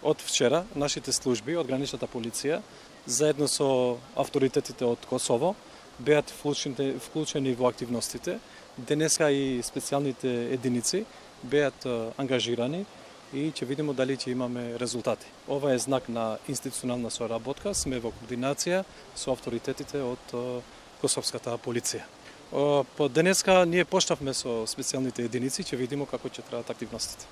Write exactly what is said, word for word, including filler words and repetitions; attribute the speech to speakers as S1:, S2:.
S1: Од вчера нашите служби од граничната полиција заедно со авторитетите од Косово беа вклучени, вклучени во активностите. Денеска и специјалните единици беа ангажирани и ќе видиме дали ќе имаме резултати. Ова е знак на институционална соработка, сме во координација со авторитетите од косовската полиција. По денеска ние почнавме со специјалните единици, ќе видиме како ќе траат активностите.